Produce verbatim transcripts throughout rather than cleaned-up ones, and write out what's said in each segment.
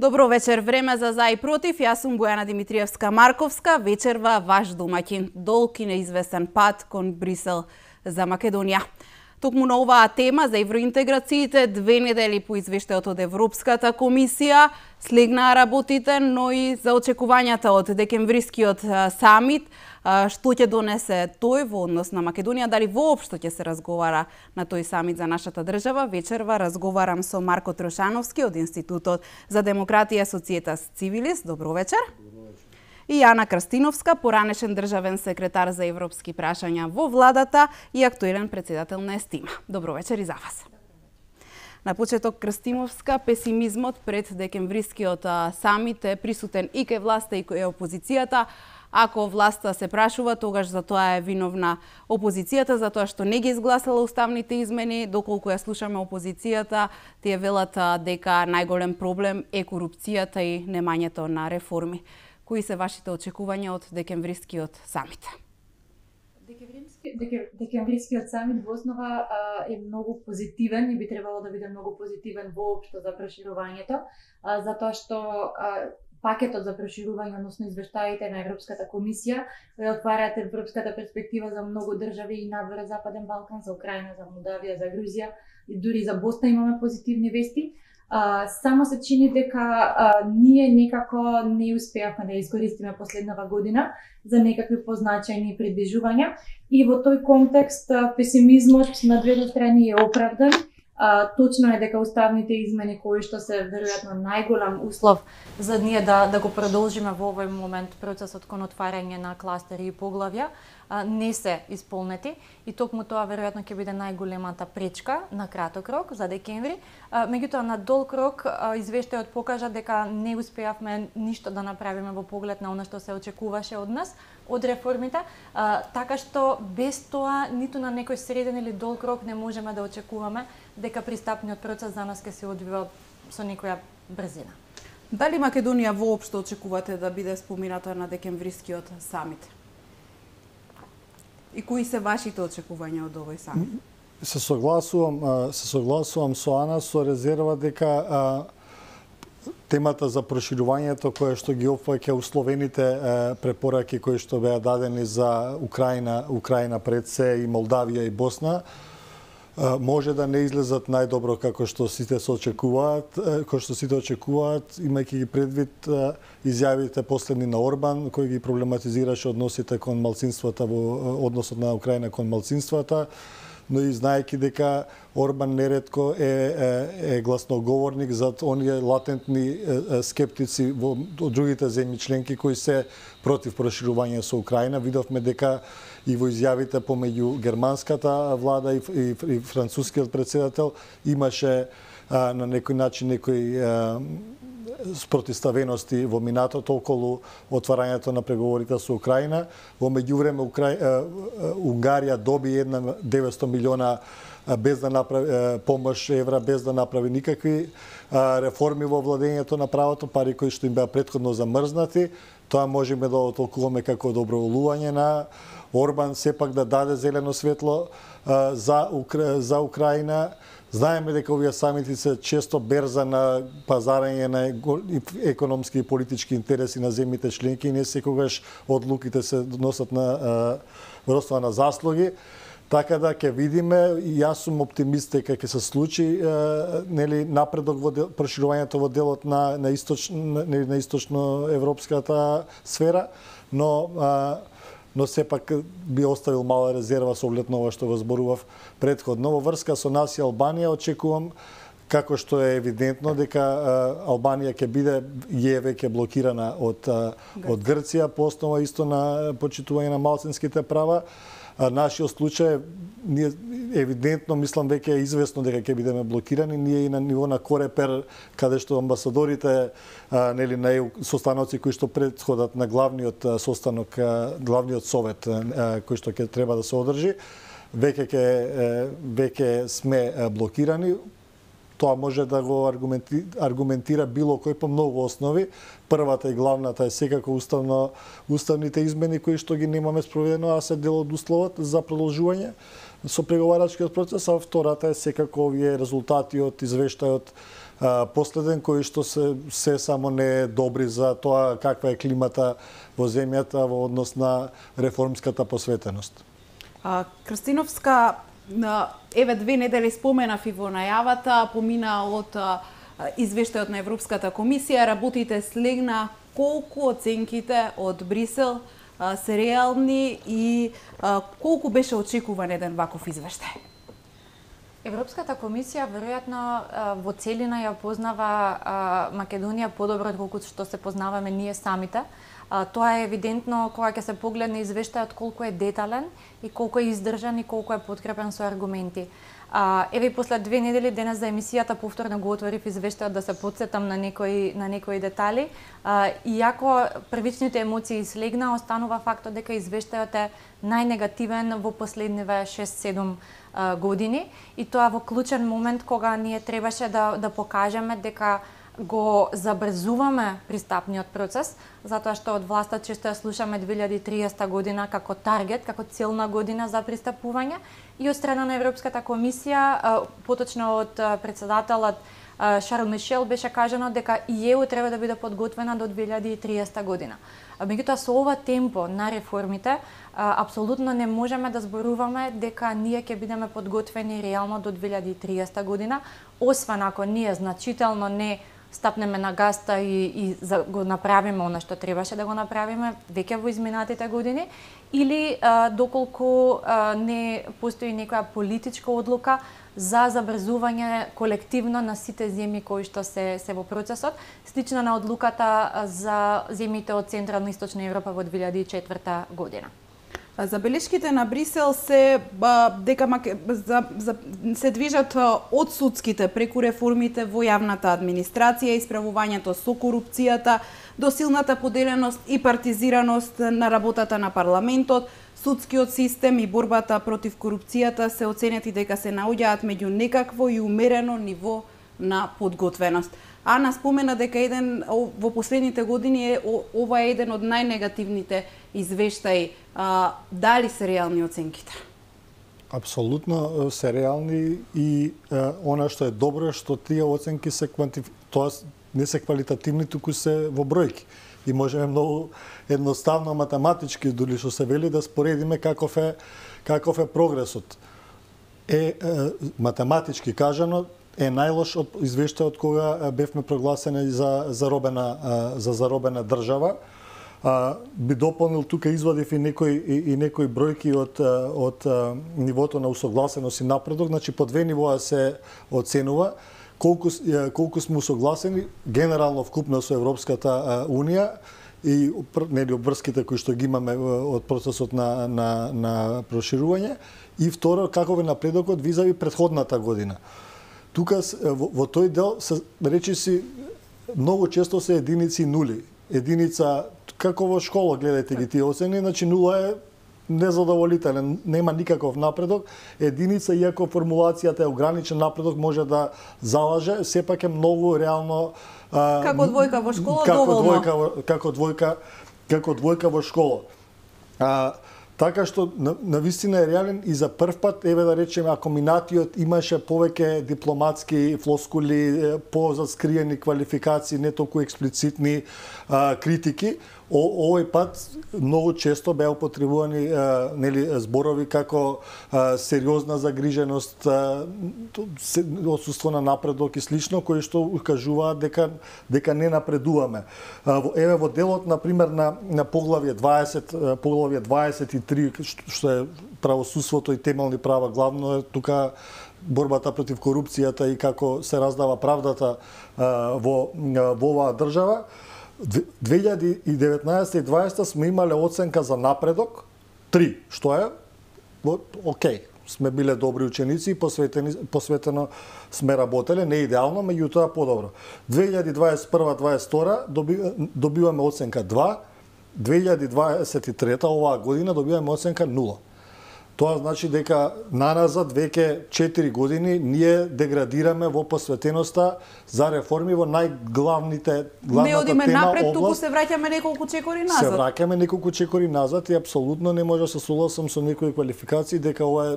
Добро вечер, време за за и против. Јас сум Бојана Димитриевска-Марковска, вечерва ваш домаќин. Долг и неизвестен пат кон Брисел за Македонија. Токму на оваа тема за евроинтеграциите, две недели по извештајот од Европската комисија, слегнаа работите, но и за очекувањата од декемврискиот самит, што ќе донесе тој во однос на Македонија, дали воопшто ќе се разговара на тој самит за нашата држава. Вечерва разговарам со Марко Трошановски од Институтот за демократија Societas Civilis. Добро вечер. И Јана Крстиновска, поранешен државен секретар за европски прашања во владата и актуелен председател на ЕСТИМА. Добро вечер и за вас. На почеток, Крстиновска, песимизмот пред декемврискиот самит е присутен и кај власта и кај опозицијата. Ако власта се прашува, тогаш за тоа е виновна опозицијата, за тоа што не ги изгласала уставните измени. Доколку ја слушаме опозицијата, тие велат дека најголем проблем е корупцијата и немањето на реформи. Кои се вашите очекувања од декемврискиот самит? Декемврискиот самит во основа е многу позитивен и би требало да биде многу позитивен воопшто за проширувањето, затоа што пакетот за проширување, односно извештаите на Европската комисија, отвараат европската перспектива за многу држави и надвор Западен Балкан, за Украина, за Молдавија, за Грузија и дури за Босна имаме позитивни вести. Uh, само се чини дека uh, ние некако не успеавме да искористиме последнава година за некакви позначајни придвижувања и во тој контекст uh, песимизмот на двете страни е оправдан. Uh, точно е дека уставните измени кои што се веројатно најголем услов за ние да да го продолжиме во овој момент процесот кон отварање на кластери и поглавја uh, не се исполнети и токму тоа веројатно ќе биде најголемата пречка на краток рок за декември. Uh, меѓутоа на долг рок uh, извештајот покажа дека не успеавме ништо да направиме во поглед на она што се очекуваше од нас, од реформите, uh, така што без тоа ниту на некој среден или долг рок не можеме да очекуваме дека пристапниот процес за нас ќе се одвива со некоја брзина. Дали Македонија воопшто очекувате да биде спомината на декемврискиот самит? И кои се вашите очекувања од овој самит? Се согласувам, се согласувам со Ана со резерва дека темата за проширувањето кое што ги опфаќа условените препораки кои што беа дадени за Украина, Украина пред се и Молдавија и Босна, може да не излезат најдобро како што сите се очекуваат, како што сите очекуваат, имајќи ги предвид изјавите последни на Орбан, кој ги проблематизираше односите кон малцинствата во односот на Украина кон малцинствата, но и знаејќи дека Орбан неретко е, е, е гласноговорник за оние латентни е, скептици во другите земји членки кои се против проширување со Украина. Видовме дека и во изјавите помеѓу германската влада и, и, и францускиот председател имаше а, на некој начин некои а, спротивставености во минатото околу отварањето на преговорите со Украина. Во меѓувреме Укра... Унгарија доби една деветсто милиона без да направи помош евра, без да направи никакви реформи во владењето на правото, пари кои што им беа претходно замрзнати. Тоа можеме да отолкуваме како доброволување на Орбан сепак да даде зелено светло за Укра... за Украина. Знаеме дека овие самити се често берза на пазарање на економски и политички интереси на земјите членки и не секогаш одлуките се носат на во основа на заслуги. Така да ќе видиме, и јас сум оптимист дека ќе се случи нели напредок во дел, проширувањето во делот на на источно на источно европската сфера, но а, но сепак би оставил мала резерва со оглед на ова што го зборував претходно. Во врска со нас и Албанија очекувам, како што е евидентно, дека Албанија ќе биде е веќе блокирана од од Грција по основа исто на почитување на малцинските права. Нашиот случај, ние евидентно, мислам, веќе е известно дека ќе бидеме блокирани. Ние и на ниво на Корепер, каде што амбасадорите, а, нели, на ЕУ состаноци кои што претходат на главниот состанок, главниот совет а, кој што ќе треба да се одржи, веќе ќе веќе сме блокирани. Тоа може да го аргументи, аргументира било кој по многу основи. Првата и главната е секако уставно, уставните измени кои што ги немаме спроведено, а се дел од условот за продолжување со преговарачкиот процес, а втората е секако овие резултати од извештајот последен кои што се се само не е добри за тоа каква е климата во земјата во однос на реформската посветеност. А, Крстиновска, еве две недели споменав и во најавата, помина од извештајот на Европската комисија, работите слегна, колку оценките од Брисел а, се реални и а, колку беше очекуван еден ваков извештај? Европската комисија веројатно во целина ја познава Македонија подобро отколку што се познаваме ние самите. Тоа е евидентно кога ќе се погледне извештајот колку е детален и колку е издржан и колку е подкрепен со аргументи. Еве после две недели денес за емисијата повторно го отворив извештајот да се потсетам на некои на некои детали. Иако првичните емоции слегна, останува фактот дека извештајот е најнегативен во последниве шест-седум години и тоа во клучен момент кога ние требаше да да покажеме дека го забрзуваме пристапниот процес, затоа што од власта често ја слушаме две илјади и триесета година како таргет, како целна година за пристапување и од страна на Европската комисија, поточно од председателот Шарл Мишел беше кажано дека и ЕУ треба да биде подготвена до две илјади и триесета година. Меѓутоа со ова темпо на реформите, апсолутно не можеме да зборуваме дека ние ќе бидеме подготвени реално до две илјади и триесета година, освен ако ние значително не стапнеме на гаста и, и за, го направиме она што требаше да го направиме веќе во изминатите години, или а, доколку а, не постои некоја политичка одлука за забрзување колективно на сите земји кои што се се во процесот, слично на одлуката за земјите од Централна и Источна Европа во две илјади и четврта година. Забелешките на Брисел се ба, дека за, за, се движат од судските преку реформите во јавната администрација, исправувањето со корупцијата, до силната поделеност и партизираност на работата на парламентот, судскиот систем и борбата против корупцијата се оценети дека се наоѓаат меѓу некакво и умерено ниво на подготвеност. Ана спомена дека еден во последните години е ова е еден од најнегативните извештаи. А, дали се реални оценките? Апсолутно се реални и а, она што е добро е што тие оценки се квантиф... тоа не се квалитативни, туку се во бројки. И можеме многу едноставно математички, дури што се вели, да споредиме каков е каков е прогресот. Е, е математички кажано, е најлош од извештајот кога бевме прогласени за заробена за заробена држава. А, би дополнил тука извадив и некои и, и некои бројки од од нивото на усогласеност и напредок, значи по две нивоа се оценува колку колку сме усогласени генерално вкупно со Европската унија и нели обврските кои што ги имаме од процесот на на на проширување, и второ каков е напредокот визави претходната година. Тука во, во тој дел се речиси многу често се единици и нули. Единица како во школа гледајте ги тие оцени, значи нула е незадоволителен, нема никаков напредок. Единица, иако формулацијата е ограничен напредок, може да залаже, сепак е многу реално а, како двојка во школа како доволно. Двојка, како двојка, како двојка во школа. А, така што на, на вистина е реален и за прв пат, еве да речеме, ако минатиот имаше повеќе дипломатски флоскули, позаскриени квалификации, не толку експлицитни а, критики, О, овој пат многу често беа употребувани а, нели зборови како а, сериозна загриженост, а, отсуство на напредок и слично, кои што укажуваат дека дека не напредуваме. А, еве во делот на пример на на поглавје дваесет, поглавје дваесет и три, што е правосудството и темелни права, главно е тука борбата против корупцијата и како се раздава правдата а, во во оваа држава. две илјади и деветнаесета и дваесета сме имале оценка за напредок три, што е окей, сме биле добри ученици и посветени, посветено сме работеле, не идеално, меѓутоа подобро. две илјади дваесет и прва дваесет и втора доби, добиваме оценка два, две илјади дваесет и трета оваа година добиваме оценка нула. Тоа значи дека наназад веќе четири години ние деградираме во посветеноста за реформи во најглавните главната не одиме тема напред, област. туку се враќаме неколку чекори назад. Се враќаме неколку чекори назад и апсолутно не може да се согласам со некои квалификации дека ова е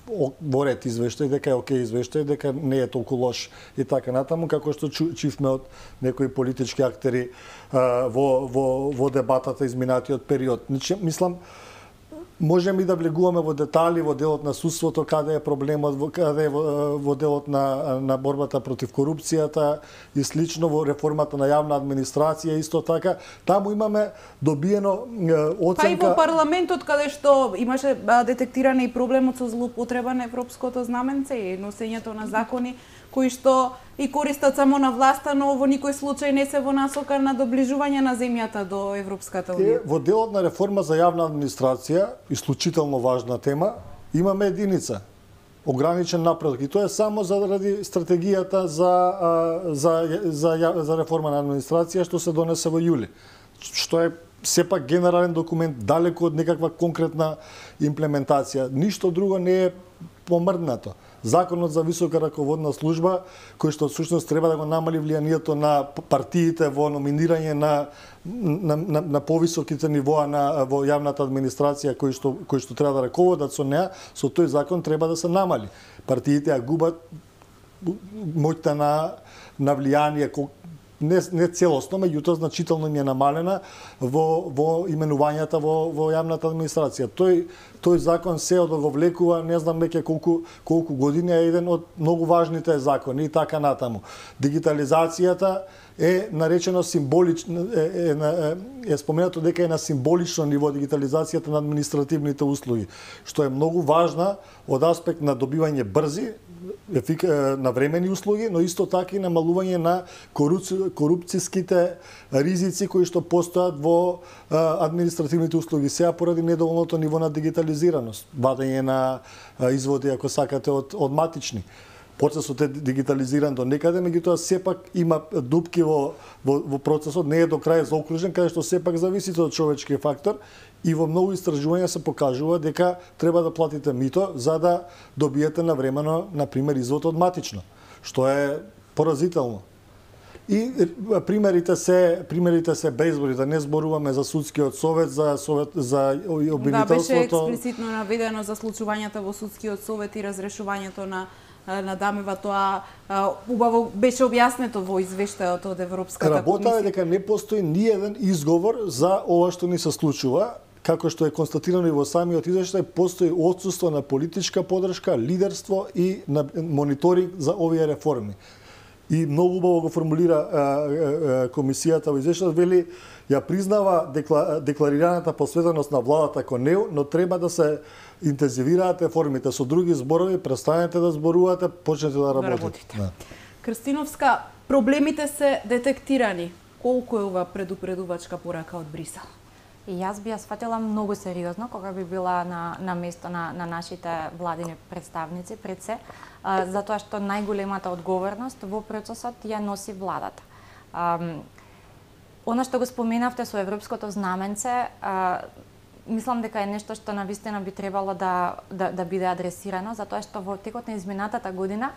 во ред извештај, дека е окей извештај, дека не е толку лош и така натаму, како што чувме од некои политички актери во, во, во дебатата изминатиот период. Значи, мислам, можеме и да влегуваме во детали во делот на судството, каде е проблемот, каде е во, во делот на, на борбата против корупцијата и слично, во реформата на јавна администрација, исто така. Таму имаме добиено оценка... Па и во парламентот, каде што имаше детектиране и проблемот со злоупотреба на европското знаменце и носењето на закони, кои што и користат само на власта, но во никој случај не се во насока на доближување на земјата до Европската унија. Во делот на реформа за јавна администрација, исклучително важна тема, имаме единица, ограничен напредок, и тоа е само заради стратегијата за, за, за, за реформа на администрација што се донесе во јули, што е сепак генерален документ, далеку од некаква конкретна имплементација. Ништо друго не е помрднато. Законот за висока раководна служба, кој што всушност треба да го намали влијанието на партиите во номинирање на на, на, на повисоките нивоа на во јавната администрација кои што кои што треба да раководат со неа, со тој закон треба да се намали. Партиите ја губат моќта на на влијание, не, не целосно, меѓутоа значително им е намалена во, во именувањата во, во јавната администрација. Тој, тој закон се одоговлекува, не знам веќе колку, колку години, е еден од многу важните закони и така натаму. Дигитализацијата е наречено символично, е, е, е, е споменато дека е на символично ниво дигитализацијата на административните услуги, што е многу важна од аспект на добивање брзи, навремени услуги, но исто така и намалување на корупцијските ризици кои што постојат во административните услуги. Сега поради недоволното ниво на дигитализираност, вадење на изводи, ако сакате, од, од матични. Процесот е дигитализиран до некаде, меѓутоа сепак има дупки во, во, во процесот, не е до крај заокружен, каде што сепак зависи од човечки фактор. И во многу истражувања се покажува дека треба да платите мито за да добиете навремено, например, извод од матично, што е поразително. И примерите се примерите се безброј, да не зборуваме за судскиот совет, за совет за обвинителството. Да, беше експлицитно наведено за случувањата во судскиот совет и разрешувањето на на Дамева, тоа убаво беше објаснето во извештајот од Европската комисија. Работа е дека не постои ни еден изговор за ова што ни се случува, како што е констатирано и во самиот извештај, постои отсуство на политичка подршка, лидерство и на мониторинг за овие реформи. И многу убаво го формулира а, а, комисијата во извештајот, вели ја признава декла, декларираната посветеност на владата кон неу, но треба да се интензивираат реформите. Со други зборови, престанете да зборувате, почнете да работите. Да. Крстиновска, проблемите се детектирани. Колку е ова предупредувачка порака од Брисел? И јас би ја сватила многу сериозно кога би била на, на место на, на нашите владини представници пред се, а, затоа што најголемата одговорност во процесот ја носи владата. А, Оно што го споменавте со европското знаменце, а, мислам дека е нешто што навистина би требало да, да, да биде адресирано, затоа што во текот на изминатата година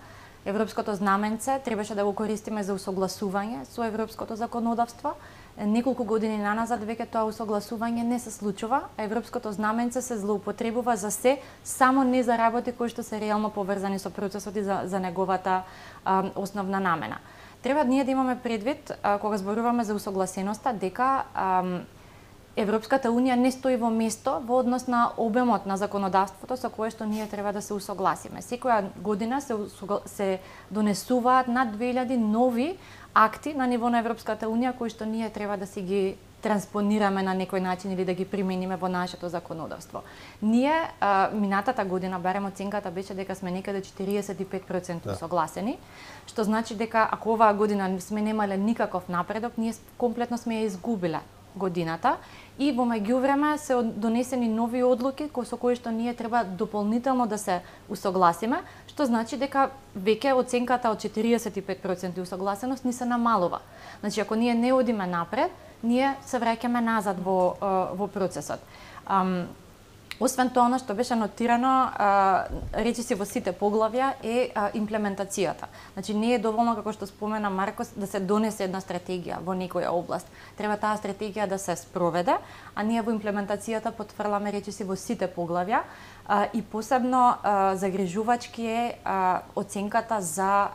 европското знаменце требаше да го користиме за усогласување со европското законодавство. Неколку години наназад веќе тоа усогласување не се случува, а европското знаменце се злоупотребува за се, само не за работи кои што се реално поврзани со процесот и за, за неговата а, основна намена. Треба ние да имаме предвид, а, кога зборуваме за усогласеноста, дека а, Европската Унија не стои во место во однос на обемот на законодавството со кое што ние треба да се усогласиме. Секоја година се, се донесуваат над две илјади нови акти на ниво на Европската Унија кои што ние треба да си ги транспонираме на некој начин или да ги примениме во нашето законодавство. Ние а, минатата година, барем оценката беше дека сме некаде четириесет и пет проценти да. согласени, што значи дека ако оваа година сме немале никаков напредок, ние комплетно сме ја изгубиле годината и во меѓувреме се донесени нови одлуки со кои што ние треба дополнително да се усогласиме, што значи дека веќе оценката од четириесет и пет проценти усогласеност ни се намалува. Значи ако ние не одиме напред, ние се враќаме назад во во процесот. Освен тоа, она што беше нотирано, речиси во сите поглавја е имплементацијата. Значи не е доволно, како што спомена Маркос, да се донесе една стратегија во некоја област. Треба таа стратегија да се спроведе, а ние во имплементацијата потврламе речиси во сите поглавја. И посебно загрижувачки е оценката за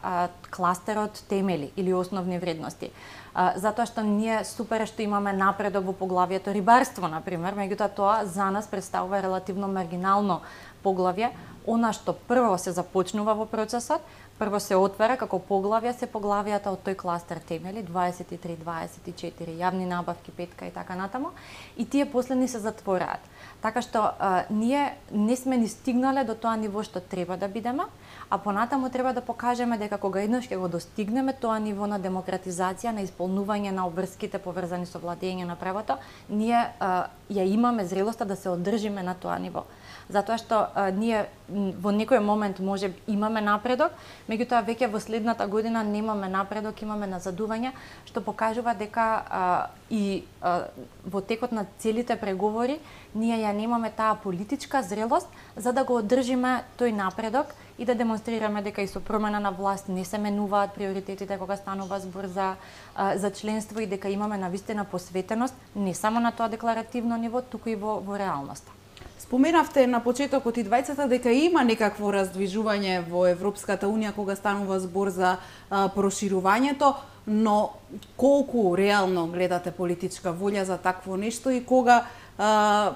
кластерот темели или основни вредности. Затоа што ние супер што имаме напредок во поглавјето рибарство, например, меѓутоа тоа за нас представува релативно маргинално поглавје. Она што прво се започнува во процесот, прво се отвара како поглавја се поглавјата од тој кластер темели дваесет и три дваесет и четири, јавни набавки петка и така натаму, и тие последни се затвораат. Така што а, ние не сме ни стигнале до тоа ниво што треба да бидеме, а понатаму треба да покажеме дека кога еднаш ќе го достигнеме тоа ниво на демократизација, на исполнување на обврските поврзани со владење на правото, ние а, ја имаме зрелоста да се одржиме на тоа ниво. Затоа што а, ние во некој момент може имаме напредок, меѓутоа веќе во следната година немаме напредок, имаме назадување, што покажува дека а, и а, во текот на целите преговори ние ја немаме таа политичка зрелост за да го одржиме тој напредок и да демонстрираме дека и со промена на власт не се менуваат приоритетите кога станува збор за, а, за членство и дека имаме навистина посветеност не само на тоа декларативно ниво, туку и во, во реалноста. Споменавте на почетокот и двајцата дека има некакво раздвижување во Европската Унија кога станува збор за а, проширувањето, но колку реално гледате политичка волја за такво нешто и кога а,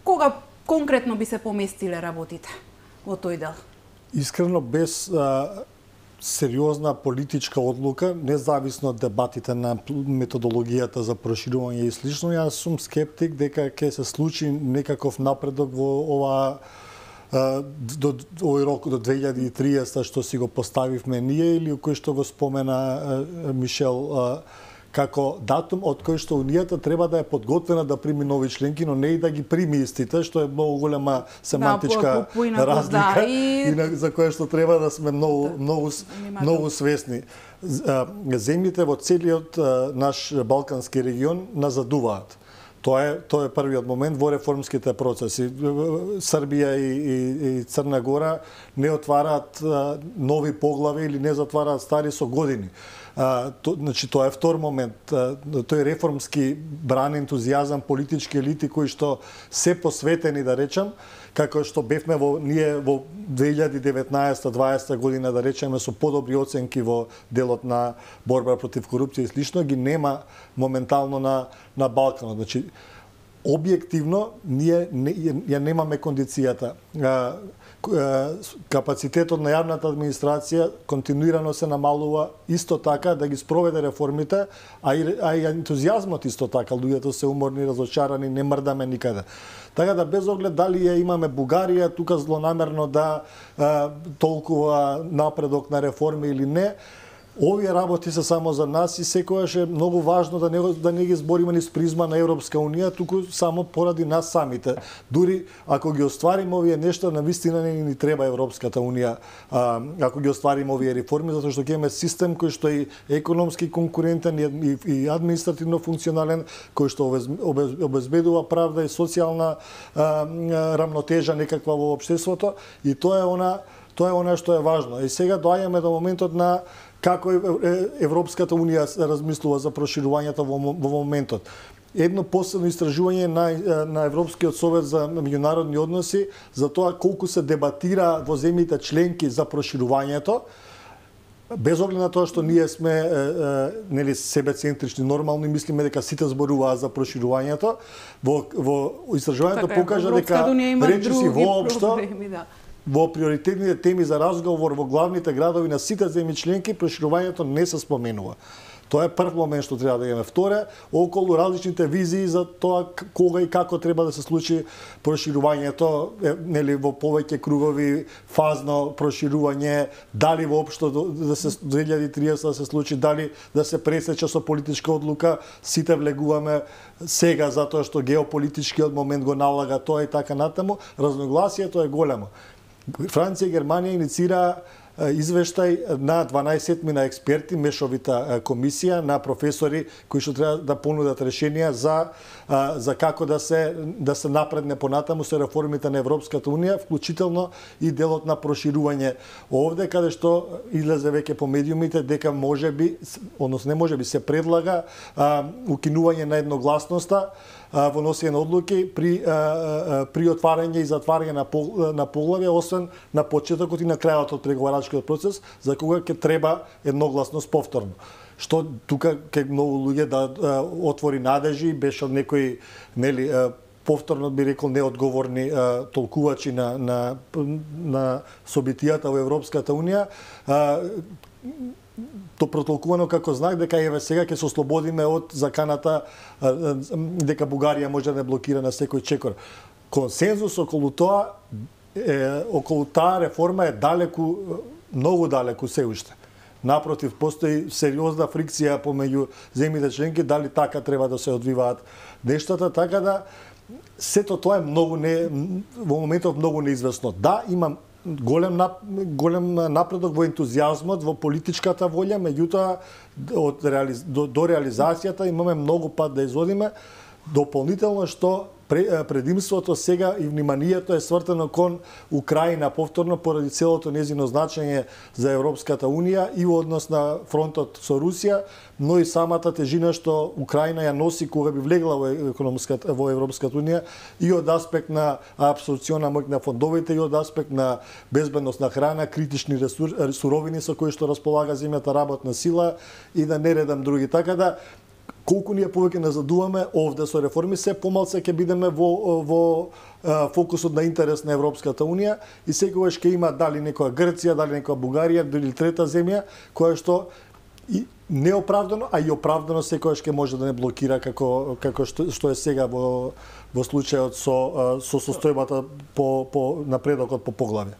кога конкретно би се поместиле работите во тој дел? Искрено, без а, сериозна политичка одлука, независно од дебатите на методологијата за проширување и слично, јас сум скептик дека ќе се случи некаков напредок во ова до овој рок до две илјади и триесета што си го поставивме ние или кој што го спомена Мишел како датум од кој што Унијата треба да е подготвена да прими нови членки, но не и да ги прими истите, што е многу голема семантичка да, разлика да, и... и за која што треба да сме многу многу многу свесни. Земјите во целиот наш балкански регион назадуваат. Тоа е тоа е првиот момент во реформските процеси. Србија и, и, и Црна Гора не отвараат нови поглави или не затвараат стари со години. А, то, значи, тоа е втор момент. А, тој реформски бран ентузијазам, политички елити кои што се посветени, да речам, како што бевме во ние во две илјади и деветнаесета дваесета година, да речеме, со подобри оценки во делот на борба против корупција и слично, ги нема моментално на на Балканот. Значи, објективно ние не, ја немаме кондицијата. А, капацитетот на јавната администрација континуирано се намалува, исто така да ги спроведе реформите, а и, а и ентузијазмот исто така, луѓето се уморни, разочарани, не мрдаме никаде. Така да без оглед дали ја имаме Бугарија тука злонамерно да а, толкова напредок на реформи или не, овие работи се само за нас и секогаш е многу важно да не, да не ги збориме низ призма на Европска Унија, туку само поради нас самите. Дури ако ги оствариме овие нешта, навистина не ни треба Европската Унија, а, ако ги оствариме овие реформи, затоа што ќе имаме систем кој што е економски конкурентен и, и, и административно функционален, кој што обезбедува правда и социјална а, рамнотежа некаква во општеството, и тоа е она тоа е она што е важно. И сега доаѓаме до моментот на како Европската Унија размислува за проширувањето во, во моментот. Едно последно истражување на, на Европскиот совет за меѓународни односи за тоа колку се дебатира во земјите членки за проширувањето, без оглед на тоа што ние сме е, е, нели себецентрични, нормално и мислиме дека сите зборуваат за проширувањето, во, во истражувањето така, покажа дека речиси воопшто да. Во приоритетните теми за разговор во главните градови на сите земји членки проширувањето не се споменува. Тоа е прв момент што треба да имаме. Вторе, околу различните визии за тоа кога и како треба да се случи проширувањето, нели во повеќе кругови, фазно проширување, дали воопшто да се две илјади и триесета да се случи, дали да се пресече со политичка одлука, сите влегуваме сега затоа што геополитичкиот момент го налага тоа и така натаму, разногласието е големо. Франција и Германија иницира извештај на дванаесет мина експерти, мешовита комисија на професори кои што треба да понудат решенија за за како да се да се напредне понатаму со реформите на Европската унија, вклучително и делот на проширување овде, каде што излезе веќе по медиумите дека можеби, односно не можеби, се предлага а, укинување на едногласноста а, во носење на одлуки при а, а, при отварање и затварање на пол, на поглавје, освен на почетокот и на крајот од преговарачкиот процес, за кога ќе треба едногласност повторно. Што тука ке многу луѓе да а, отвори надежи, беше од некои, нели, а, повторно би рекол неодговорни а, толкувачи на на на собитијата во Европската унија, а, то протолкувано како знак дека еве сега ќе се ослободиме од заканата а, дека Бугарија може да не блокира на секој чекор. Консензус околу тоа е, околу таа реформа е далеку, многу далеку се уште. Напротив, постои сериозна фрикција помеѓу земјите членки дали така треба да се одвиваат нештата, така да сето тоа е многу не во моментов многу неизвестно. Да, имам голем нап, голем напредок во ентузијазмот, во политичката волја, меѓутоа од реализ, до, до реализацијата имаме многу пат да изводиме. Дополнително што предимството сега и вниманието е свртено кон Украина повторно поради целото незино значење за Европската унија и во однос на фронтот со Русија, но и самата тежина што Украина ја носи кога би влегла во економската во Европската унија и од аспект на апсорбциона моќ на фондовите и од аспект на безбедност на храна, критични ресур, суровини со кои што располага земјата, работна сила и да не редам други. Така да колку ние повеќе назадуваме овде со реформи, се помалце ќе бидеме во, во а, фокусот на интерес на Европската унија и секогаш ќе има дали некоја Грција, дали некоја Бугарија, дали трета земја, која што и неоправдано, а и оправдано секогаш ќе може да не блокира како како што, што е сега во во случајот со со состојбата по по напредокот по поглавје.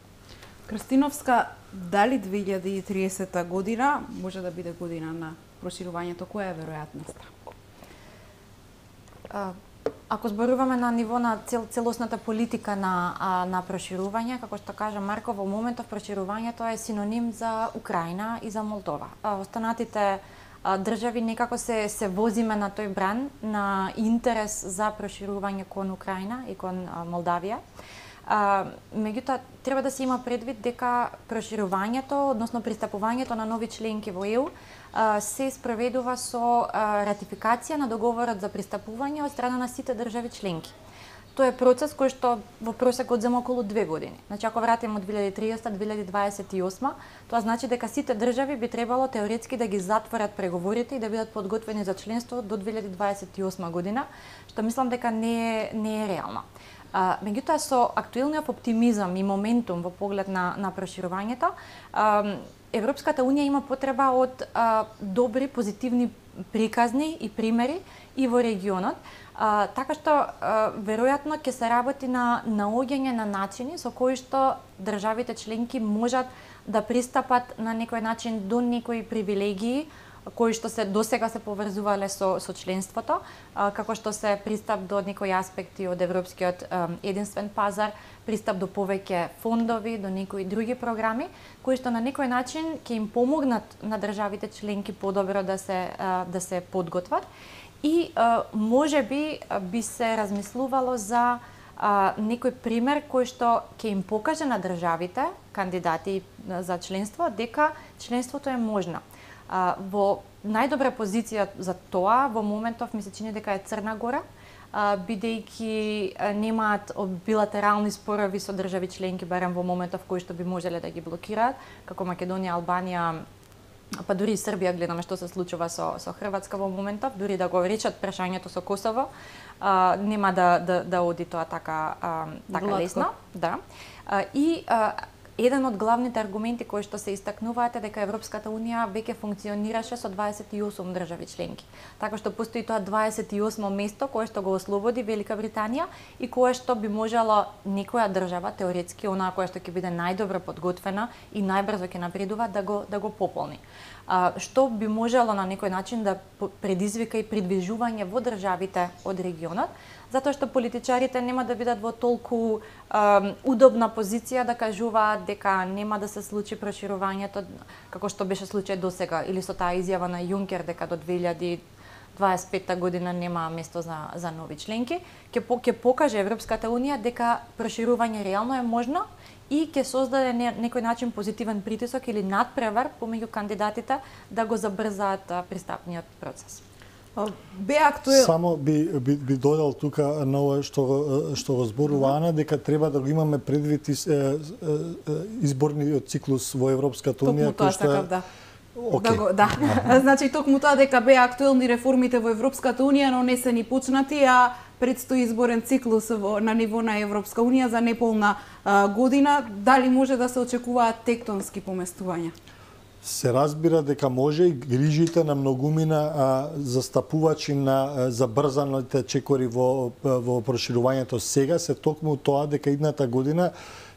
Крстиновска, дали две илјади и триесета година може да биде година на проширувањето? Која е веројатноста? Ако зборуваме на ниво на цел, целосната политика на, на проширување, како што кажа Марко, во моментов проширувањето е синоним за Украина и за Молдова. Останатите држави некако се, се возиме на тој бран на интерес за проширување кон Украина и кон Молдавија. А, меѓутоа, треба да се има предвид дека проширувањето, односно пристапувањето на нови членки во ЕУ, а, се спроведува со а, ратификација на договорот за пристапување од страна на сите држави членки. Тоа е процес кој што во просек одзема околу две години. Значи, ако вратиме од две илјади и триесета до две илјади дваесет и осма, тоа значи дека сите држави би требало теоретски да ги затворат преговорите и да бидат подготвени за членство до две илјади дваесет и осма година, што мислам дека не е, не е реално. А, меѓутоа, со актуелниот оптимизам и моментум во поглед на, на проширувањето, а, Европската унија има потреба од а, добри, позитивни приказни и примери и во регионот, а, така што а, веројатно ќе се работи на наоѓање на начини со кои што државите членки можат да пристапат на некој начин до некои привилегии кои што се досега се поврзувале со со членството, а, како што се пристап до некои аспекти од европскиот а, единствен пазар, пристап до повеќе фондови, до некои други програми, кои што на некој начин ќе им помогнат на државите членки подобро да се а, да се подготват и а, можеби би се размислувало за а, некој пример кој што ќе им покаже на државите кандидати за членство дека членството е можно. А, во најдобра позиција за тоа во моментов ми се чини дека е Црна Гора, а, бидејќи немаат билатерални спорови со држави членки барем во моментов кои што би можеле да ги блокираат, како Македонија, Албанија, па дури и Србија, гледаме што се случува со со Хрватска во моментов, дури да го речат прашањето со Косово, а, нема да да да оди тоа така а, така Гладко. Лесно, да. А, и а, еден од главните аргументи кои што се истакнуваат е дека Европската унија веќе функционираше со дваесет и осум држави членки. Така што постои тоа дваесет и осмо место кое што го ослободи Велика Британија и кое што би можела некоја држава теоретски, онаа која што ќе биде најдобро подготвена и најбрзо ќе напредува да го да го пополни. што би можело на некој начин да предизвика и придвижување во државите од регионот, затоа што политичарите нема да бидат во толку е, удобна позиција да кажуваат дека нема да се случи проширувањето како што беше случај досега, или со таа изјава на Јункер дека до две илјади дваесет и петта година нема место за за нови членки, ќе по, ќе покаже Европската унија дека проширување реално е можно и ќе создаде не, некој начин позитивен притисок или надпревар помеѓу кандидатите да го забрзаат пристапниот процес. Бе актуел... Само би, би, би додал тука на ова што, што го зборува Ана, дека треба да го имаме предвид из, е, е, изборниот циклус во Европската унија, кој што е... Да. Okay. Да, го, да. Значи токму тоа дека беа актуелни реформите во Европската унија, но не се ни почнати, а предстои изборен циклус во, на ниво на Европска унија за неполна а, година. Дали може да се очекуваат тектонски поместувања? Се разбира дека може и грижите на многумина а, застапувачи на а, забрзаните чекори во, во проширувањето сега се токму тоа дека идната година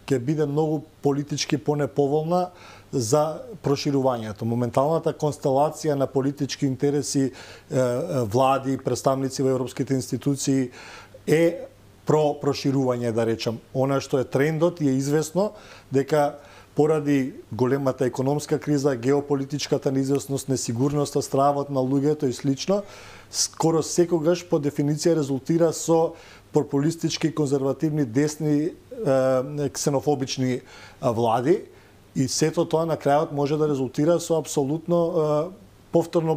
ќе биде многу политички понеповолна за проширувањето. Моменталната констелација на политички интереси, влади, представници во европските институции е про проширување, да речам. Она што е трендот и е известно дека поради големата економска криза, геополитичката неизвестност, несигурноста, стравот на луѓето и слично, скоро секогаш по дефиниција резултира со популистички, конзервативни, десни, ксенофобични влади. И сето тоа на крајот може да резултира со апсолутно е, повторно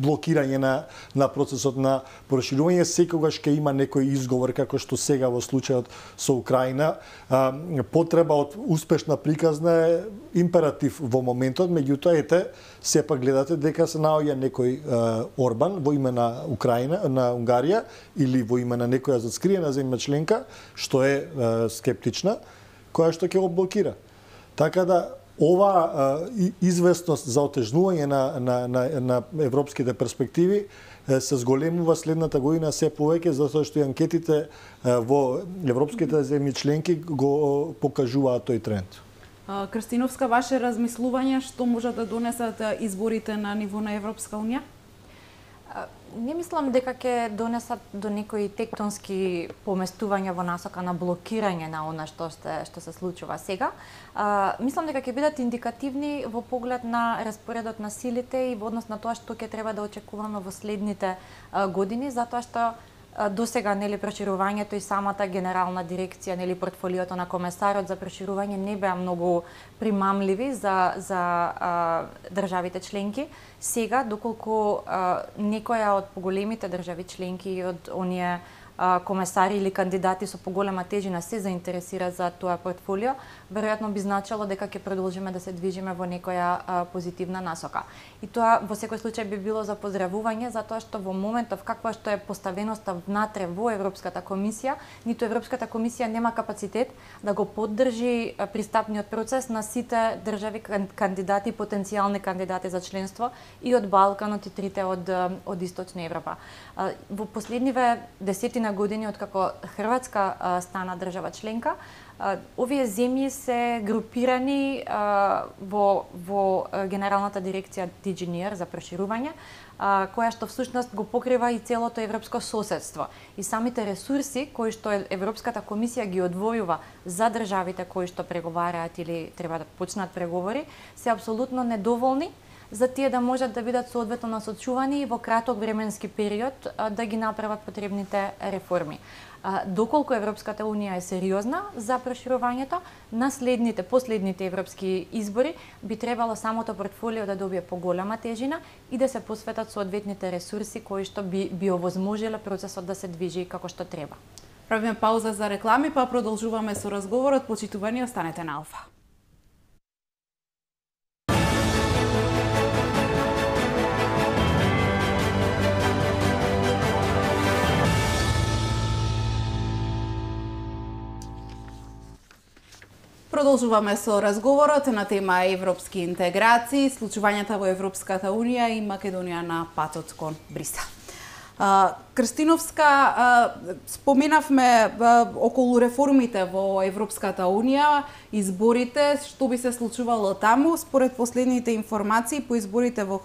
блокирање на, на процесот на проширување. Секогаш ќе има некој изговор, како што сега во случајот со Украина. Е, потреба од успешна приказна е императив во моментот, меѓутоа ете, сепак гледате дека се наоѓа некој е, Орбан во име на Украина, на Унгарија, или во име на некоја зацкриена земја членка, што е, е скептична, која што ќе го блокира. Така да, ова а, известност за отежнување на, на, на, на европските перспективи е, се зголемува следната година се повеќе, затоа што и анкетите е, во европските земји членки го покажуваат тој тренд. Крстиновска, ваше размислување што може да донесат изборите на ниво на Европска унија? Не мислам дека ќе донесат до некои тектонски поместувања во насока на блокирање на она што се, што се случува сега. А, мислам дека ќе бидат индикативни во поглед на распоредот на силите и во однос на тоа што ќе треба да очекуваме во следните а, години, затоа што досега нели проширувањето и самата генерална дирекција, нели портфолиото на комесарот за проширување не беа многу примамливи за за а, државите членки. Сега, доколку а, некоја од поголемите држави членки и од оние а, комесари или кандидати со поголема тежина се заинтересира за тоа портфолио, веројатно би значило дека ќе продолжиме да се движиме во некоја а, позитивна насока. И тоа во секој случај би било за поздравување, затоа што во моментов каква што е поставеноста внатре во Европската комисија, ниту Европската комисија нема капацитет да го поддржи пристапниот процес на сите држави кандидати, потенцијални кандидати за членство и од Балканот и трите од од Источна Европа. Во последниве десетина години откако Хрватска стана држава членка, овие земји се групирани а, во, во Генералната дирекција ди джи ен и ар за проширување, а, која што всушност го покрива и целото европско соседство. И самите ресурси кои што Европската комисија ги одвојува за државите кои што преговараат или треба да почнат преговори, се апсолутно недоволни за тие да можат да бидат соодветно насочувани и во краток временски период а, да ги направат потребните реформи. А, доколку Европската унија е сериозна за проширувањето, на следните, последните европски избори би требало самото портфолио да добие поголема тежина и да се посветат соодветните ресурси кои што би, би овозможиле процесот да се движи како што треба. Правиме пауза за реклами, па продолжуваме со разговорот. Почитувани, останете на Алфа. Продолжуваме со разговорот на тема европски интеграции, случувањата во Европската унија и Македонија на патот кон Брисел. Крстиновска, споменавме околу реформите во Европската Унија, изборите, што би се случувало таму, според последните информации по изборите во,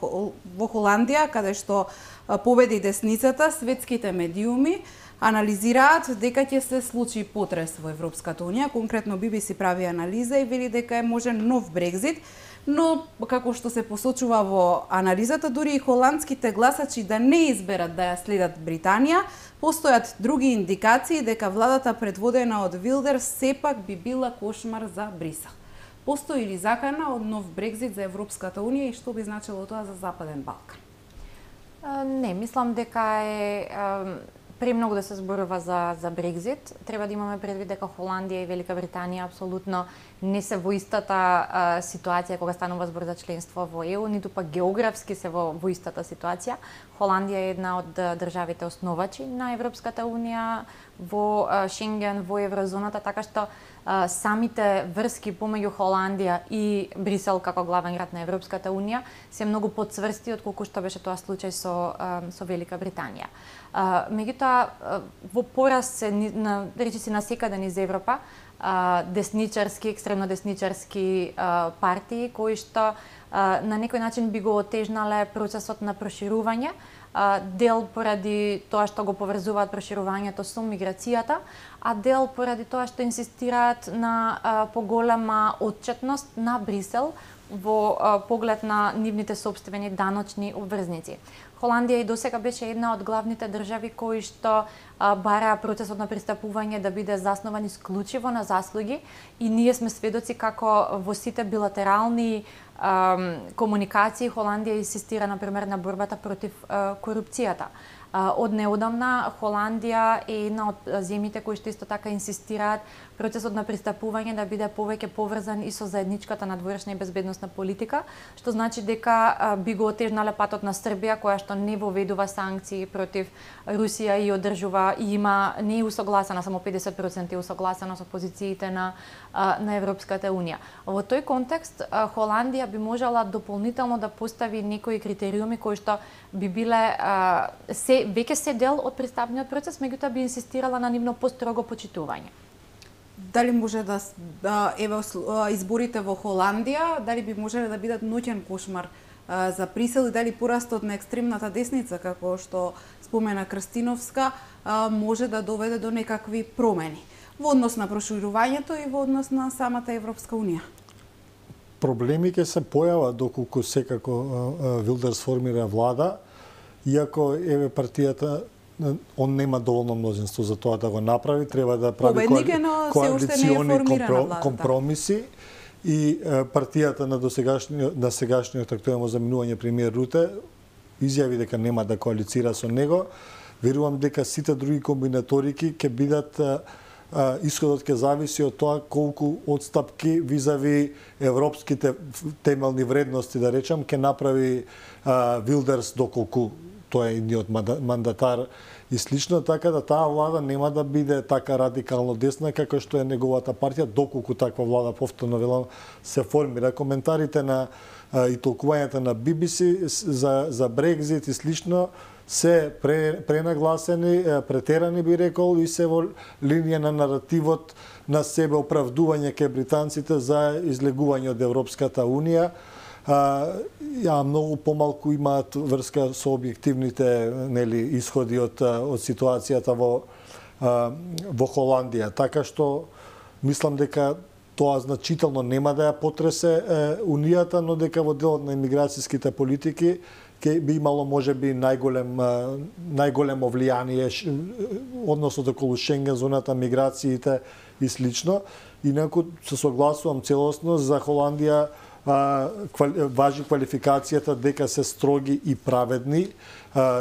во Холандија, каде што победи десницата, светските медиуми анализираат дека ќе се случи потрес во Европската Унија, конкретно Би Би Си прави анализа и вели дека е можен нов Брекзит, но како што се посочува во анализата, дури и холандските гласачи да не изберат да ја следат Британија, постојат други индикации дека владата предводена од Вилдерс сепак би била кошмар за Брисел. Постои ли закана од нов Брекзит за Европската Унија и што би значило тоа за Западен Балкан? Не, мислам дека е премногу да се зборува за за Брекзит. Треба да имаме предвид дека Холандија и Велика Британија апсолутно не се во истата а, ситуација кога станува збор за членство во Е У, ниту пак географски се во, во истата ситуација. Холандија е една од државите основачи на Европската Унија во а, Шенген, во еврозоната, така што а, самите врски помеѓу Холандија и Брисел како главен град на Европската Унија се многу подцврсти од колку што беше тоа случај со а, со Велика Британија. Uh, меѓутоа, uh, во пораст се, на, речиси насекаде низ Европа, uh, десничарски, екстремно десничарски uh, партии, кои што uh, на некој начин би го отежнале процесот на проширување, uh, дел поради тоа што го поврзуваат проширувањето со миграцијата, а дел поради тоа што инсистираат на uh, поголема отчетност на Брисел во uh, поглед на нивните сопствени даночни обврзници. Холандија и досега беше една од главните држави кои што а, бараа процесот на пристапување да биде заснован исклучиво на заслуги и ние сме сведоци како во сите билатерални а, комуникации Холандија инсистира на пример на борбата против а, корупцијата. А, од неодамна Холандија е една од земјите кои што исто така инсистираат процесот на пристапување да биде повеќе поврзан и со заедничката надворешна и безбедносна политика, што значи дека а, би го отежнале патот на Србија, која што не воведува санкции против Русија и одржува и има не е усогласена, само педесет проценти е усогласена со позициите на а, на Европската Унија. Во тој контекст а, Холандија би можела дополнително да постави некои критериуми кои што би биле а, се веќе се дел од пристапниот процес, меѓутоа би инсистирала на нивно построго почитување. Дали може да, да еве изборите во Холандија, дали би можеле да бидат ноќен кошмар а, за Брисел и дали порастот на екстремната десница, како што спомена Крстиновска, а, може да доведе до некакви промени во однос на проширувањето и во однос на самата Европска Унија? Проблеми ќе се појават доколку секако Вилдерс формира влада, иако еве партијата он нема доволно мнозинство за тоа да го направи, треба да прави коалициони компро, компромиси и партијата на досегашниот на сегашниот актуелно заминување премиер Руте изјави дека нема да коалицира со него. Верувам дека сите други комбинаторики ќе бидат исходот ќе зависи од тоа колку отстапки визави европските темелни вредности, да речам, ќе направи Вилдерс доколку тој е едниот мандатар и слично, така да таа влада нема да биде така радикално десна како што е неговата партија, доколку таква влада, повторно велам, се формира. Коментарите на и толкувањата на Би Би Си за, за Брекзит и слично се пре, пренагласени, претерани би рекол и се во линија на наративот на себе оправдување кај британците за излегување од Европската Унија. Ја многу помалку имаат врска со објективните нели исходи од од ситуацијата во во Холандија, така што мислам дека тоа значително нема да ја потресе унијата, но дека во делот на имиграцијските политики ќе би имало можеби најголем најголемо влијание односот околу Шенген, зоната, миграциите и слично. Инаку се согласувам целосно за Холандија. Важи квалификацијата дека се строги и праведни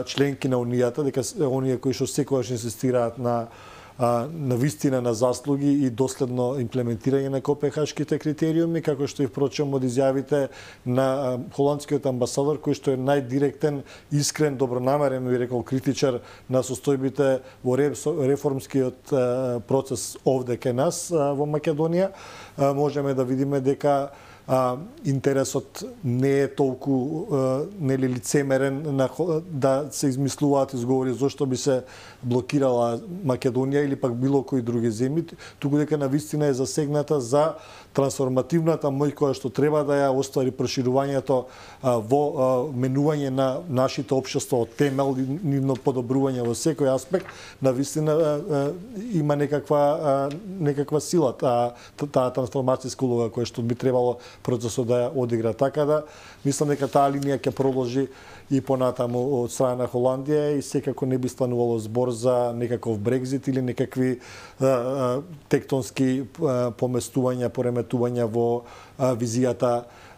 членки на Унијата, дека оние кои што секогаш инсистираат на на вистина на заслуги и доследно имплементирање на копенхашките критериуми, како што и впрочем од изјавите на холандскиот амбасадор, кој што е најдиректен, искрен, добронамерен, би рекол критичар на состојбите во реформскиот процес овде кај нас во Македонија. Можеме да видиме дека а, интересот не е толку а, нели лицемерен на, да се измислуваат изговори зошто би се блокирала Македонија или пак било кои други земји, туку дека навистина е засегната за трансформативната мој која што треба да ја оствари проширувањето а, во а, менување на нашите општества од темел и нивно подобрување во секој аспект, навистина а, а, има некаква а, некаква сила таа таа трансформацијска улога која што би требало процесот да ја одигра. Така да мислам дека таа линија ќе продолжи и понатаму од страна на Холандија и секако не би станувало збор за некаков Брекзит или некакви а, а, тектонски а, поместувања, пореметувања во а, визијата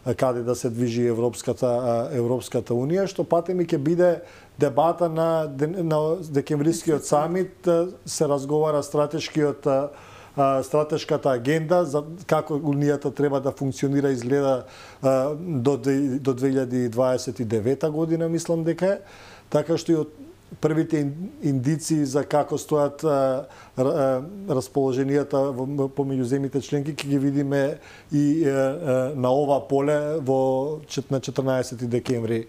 а, каде да се движи Европската а, Европската унија, што патеми ќе биде дебата на, на декемврискиот самит, а, се разговара стратешкиот а, стратешката агенда за како унијата треба да функционира изгледа до до две илјади дваесет и девета година, мислам дека е, така што и од првите индиции за како стојат расположенијата помеѓу земјите членки ќе ги видиме и на ова поле во на четрнаесети декември,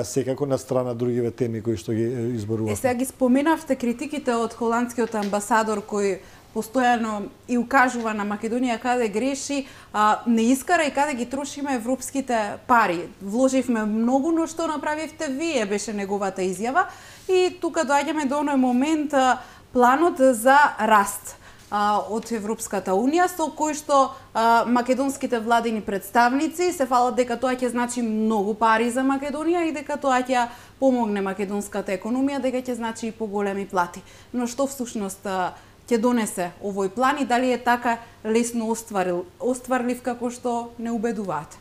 секако на страна другиве теми кои што ги изборувавме. Е, сега ги споменавте критиките од холандскиот амбасадор кој постојано и укажува на Македонија каде греши, а, не искара и каде ги трошиме европските пари. Вложивме многу, но што направивте вие, беше неговата изјава. И тука доаѓаме до оној момент а, планот за раст а, од Европската унија, со кој што а, македонските владини представници се фалат дека тоа ќе значи многу пари за Македонија и дека тоа ќе помогне македонската економија, дека ќе значи и поголеми плати. Но што всушност а, ќе донесе овој план и дали е така лесно остварил, остварлив како што не убедуваат?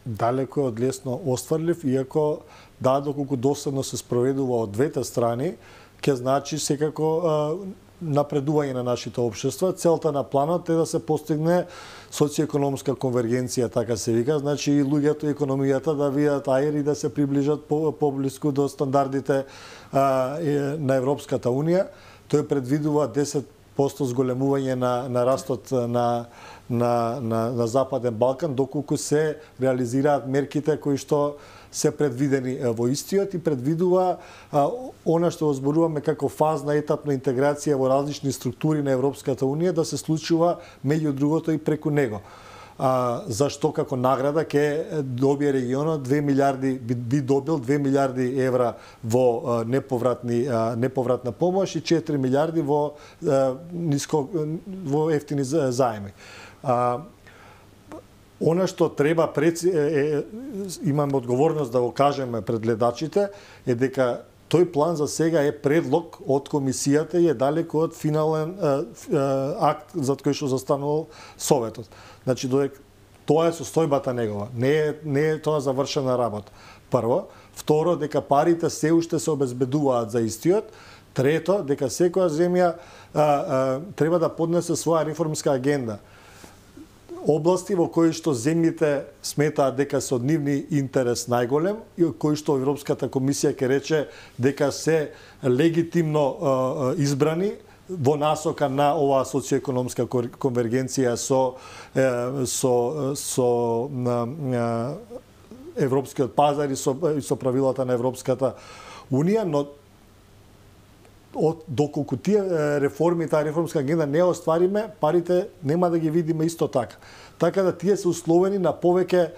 Далеко е од лесно остварлив, иако да, доколку доследно се спроведува од двете страни, ќе значи секако а, напредување на нашите општества. Целта на планот е да се постигне социјекономска конвергенција, така се вика, значи и луѓето и економијата да видат аер и да се приближат по, поблиску до стандардите а, на Европската унија. Тој предвидува десет посто зголемување на, на растот на, на, на, на Западен Балкан, доколку се реализираат мерките кои што се предвидени во истиот и предвидува а, она што зборуваме како фазна етапна интеграција во различни структури на Европската унија да се случува меѓу другото и преку него. А, зашто како награда ќе добие регионот две милиарди, би, би добил две милиарди евра во а, неповратни а, неповратна помош и четири милиарди во а, ниско во ефтини заеми. А, Она што треба пред, е, е, имаме одговорност да го кажеме пред гледачите е дека тој план за сега е предлог од комисијата и е далеко од финален е, е, акт за кој што застанувал Советот. Значи додека тоа е состојбата негова, не е не е тоа завршена работа. Прво, второ дека парите се уште се обезбедуваат за истиот. Трето, дека секоја земја а, а, треба да поднесе своја реформска агенда. Области во кои што земјите сметаат дека се од нивни интерес најголем и кои што Европската комисија ќе рече дека се легитимно а, избрани во насока на оваа социјекономска конвергенција со е, со со на, на европскиот пазар и со и со правилата на Европската унија, но од доколку тие реформи, таа реформска агенда не оствариме, парите нема да ги видиме исто така. Така да тие се условени на повеќе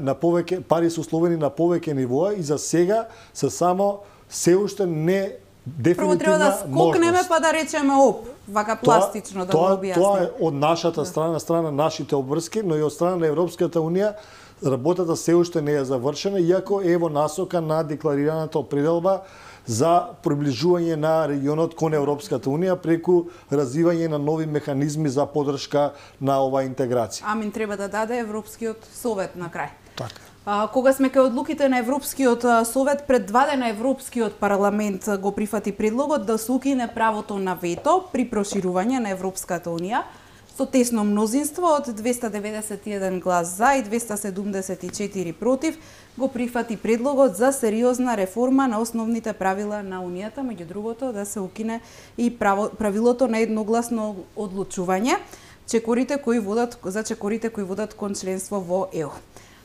на повеќе пари се условени на повеќе нивоа и за сега се само се уште не дефинитивна можност. Прво треба да скокнеме па да речеме оп, вака пластично да тоа, го објасниме. Тоа е од нашата страна, страна нашите обврски, но и од страна на Европската унија работата се уште не е завршена, иако е во насока на декларираната определба за приближување на регионот кон Европската унија преку развивање на нови механизми за поддршка на оваа интеграција. Амин треба да даде Европскиот совет на крај. Така. А, кога сме кај одлуките на Европскиот совет, пред два дена Европскиот парламент го прифати предлогот да се укине правото на вето при проширување на Европската унија со тесно мнозинство од двеста деветдесет и еден глас за и двеста седумдесет и четири против, го прифати предлогот за сериозна реформа на основните правила на Унијата, меѓу другото да се укине и право, правилото на едногласно одлучување. чекорите кои водат за чекорите кои водат кон членство во Е У.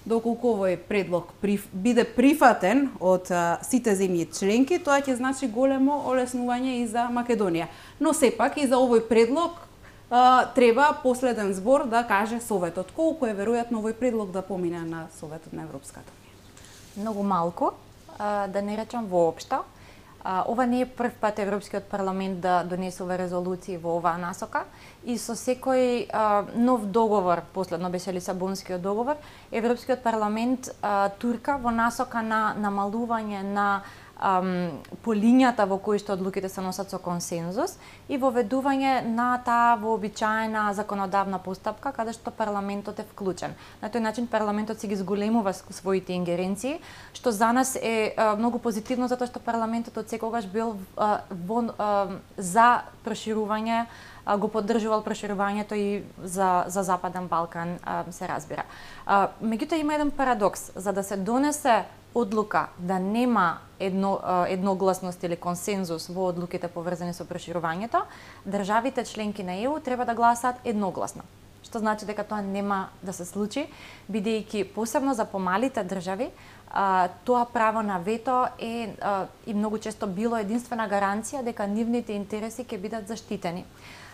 Доколку овој предлог приф, биде прифатен од а, сите земји членки, тоа ќе значи големо олеснување и за Македонија. Но сепак и за овој предлог а, треба последен збор да каже Советот. Колку е веројатно овој предлог да помине на Советот на Европската унија? Многу малку, а, да не речам воопшто. А, ова не е прв пат Европскиот парламент да донесува резолуции во оваа насока и со секој а, нов договор, последно беше Лисабонскиот договор, Европскиот парламент а, турка во насока на намалување на ам, по линијата во кои што одлуките се носат со консензус и воведување на таа вообичаена законодавна постапка каде што парламентот е вклучен. На тој начин парламентот си ги зголемува своите ингеренции, што за нас е а, многу позитивно затоа што парламентот од секогаш бил а, во, а, за проширување, а, го поддржувал проширувањето и за за Западен Балкан, а, се разбира. А, меѓутоа има еден парадокс, за да се донесе одлука да нема едно, едногласност или консензус во одлуките поврзани со проширувањето, државите членки на Е У треба да гласаат едногласно. Што значи дека тоа нема да се случи, бидејќи посебно за помалите држави, а, тоа право на вето е а, и многу често било единствена гаранција дека нивните интереси ќе бидат заштитени.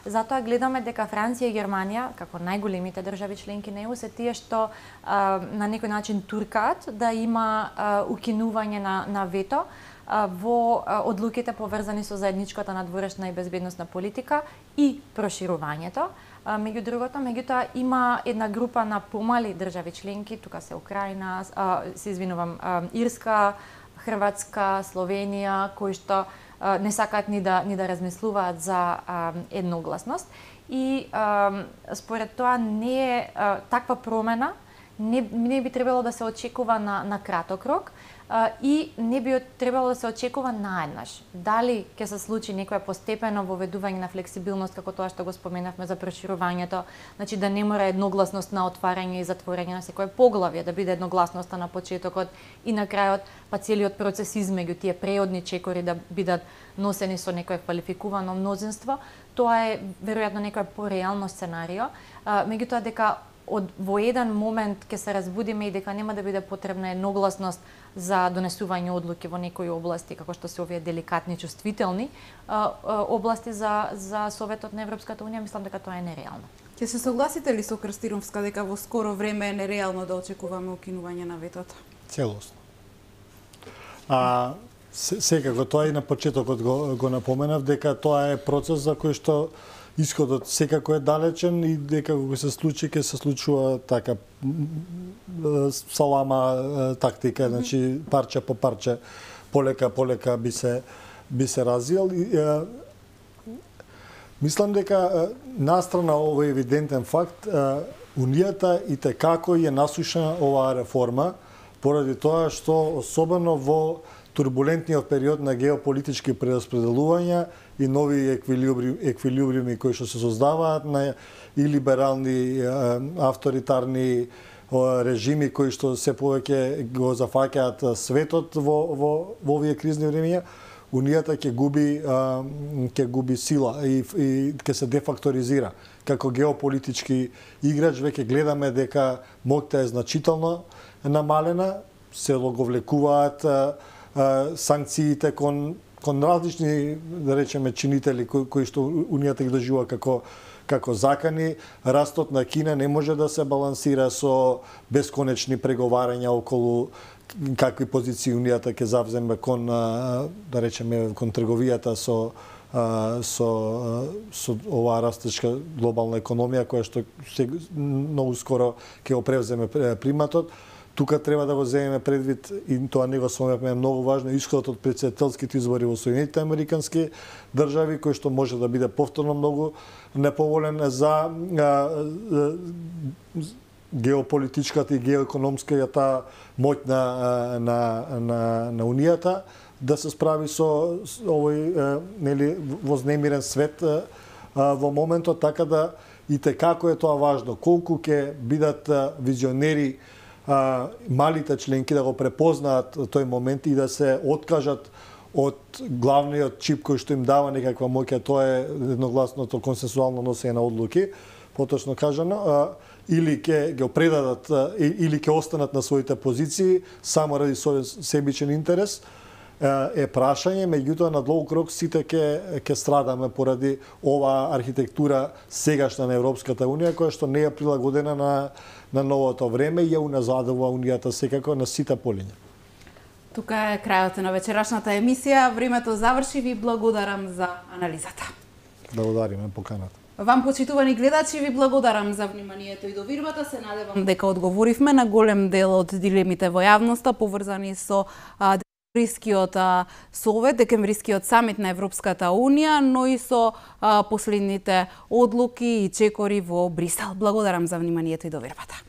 Затоа гледаме дека Франција и Германија, како најголемите држави членки на Е У, се тие што а, на некој начин туркаат да има а, укинување на, на вето а, во а, одлуките поврзани со заедничката надворешна и безбедносна политика и проширувањето. А, меѓу другото, меѓутоа има една група на помали држави членки, тука се Украина, а, се извинувам, а, Ирска, Хрватска, Словенија, кои што не сакаат ни да ни да размислуваат за а, едногласност и а, според тоа не е а, таква промена не, не би требало да се очекува на, на краток рок а, и не би требало да се очекува наеднаш. Дали ќе се случи некое постепено воведување на флексибилност, како тоа што го споменавме за проширувањето, значи да не мора едногласност на отварање и затворање на секое поглавје, да биде едногласноста на почетокот и на крајот, па целиот процес измеѓу тие преодни чекори да бидат носени со некое квалификувано мнозинство, тоа е веројатно некој пореално сценарио, а, меѓутоа дека од во еден момент ќе се разбудиме и дека нема да биде потребна едногласност за донесување одлуки во некои области, како што се овие деликатни, чувствителни а, а, области за за Советот на Европската унија, мислам дека тоа е нереално. Ќе се согласите ли со Крстиновска дека во скоро време е нереално да очекуваме укинување на ветото? Целосно. А секако тоа и на почетокот го, го напоменав дека тоа е процес за кој што исходот секако е далечен и дека кога се случи ќе се случува така салама тактика, значи парче по парче, полека полека би се би се развил и е, мислам дека настрана овој евидентен факт, е, унијата и текако е насушена оваа реформа поради тоа што особено во турбулентниот период на геополитички прераспределувања и нови еквилибри, еквилибриуми кои што се создаваат на и либерални, авторитарни режими кои што се повеќе го зафаќаат светот во во во овие кризни времиња, унијата ќе губи ќе губи сила и и ќе се дефакторизира. Како геополитички играч веќе гледаме дека моќта е значително намалена, се го влекуваат санкциите кон кон различни, да речеме, чинители кои, кои што унијата ги доживува како како закани. Растот на Кина не може да се балансира со бесконечни преговарања околу какви позиции унијата ќе завземе кон, да речеме, кон трговијата со со со оваа растечка глобална економија која што се, многу скоро ќе го превземе приматот. Тука треба да го земеме предвид, и тоа не го спомнавме, многу важно, исходот од претседателските избори во Соединетите американски држави, кој што може да биде повторно многу неповолен за а, а, геополитичката и геоекономската моќ на, на, на, на Унијата, да се справи со, со овој а, нели, вознемирен свет а, во моментот, така да и како е тоа важно, колку ќе бидат а, визионери а, малите членки да го препознаат тој момент и да се откажат од главниот чип кој што им дава некаква моќ, тоа е едногласното консенсуално носење на одлуки, поточно кажано, или ќе ги предадат или ќе останат на своите позиции само ради свој себичен интерес, е прашање, меѓутоа на долг рок сите ќе ќе страдаме поради оваа архитектура сегашна на Европската унија која што не е прилагодена на на новото време и ја уназадува унијата секако на сите полиња. Тука е крајот на вечерашната емисија. Времето заврши, ви благодарам за анализата. Благодариме поканата. Вам, почитувани гледачи, ви благодарам за вниманието и довирбата. Се надевам дека одговоривме на голем дел од дилемите во јавноста поврзани со декемврискиот совет, декемврискиот самит на Европската унија, но и со а, последните одлуки и чекори во Брисел. Благодарам за вниманието и довирбата.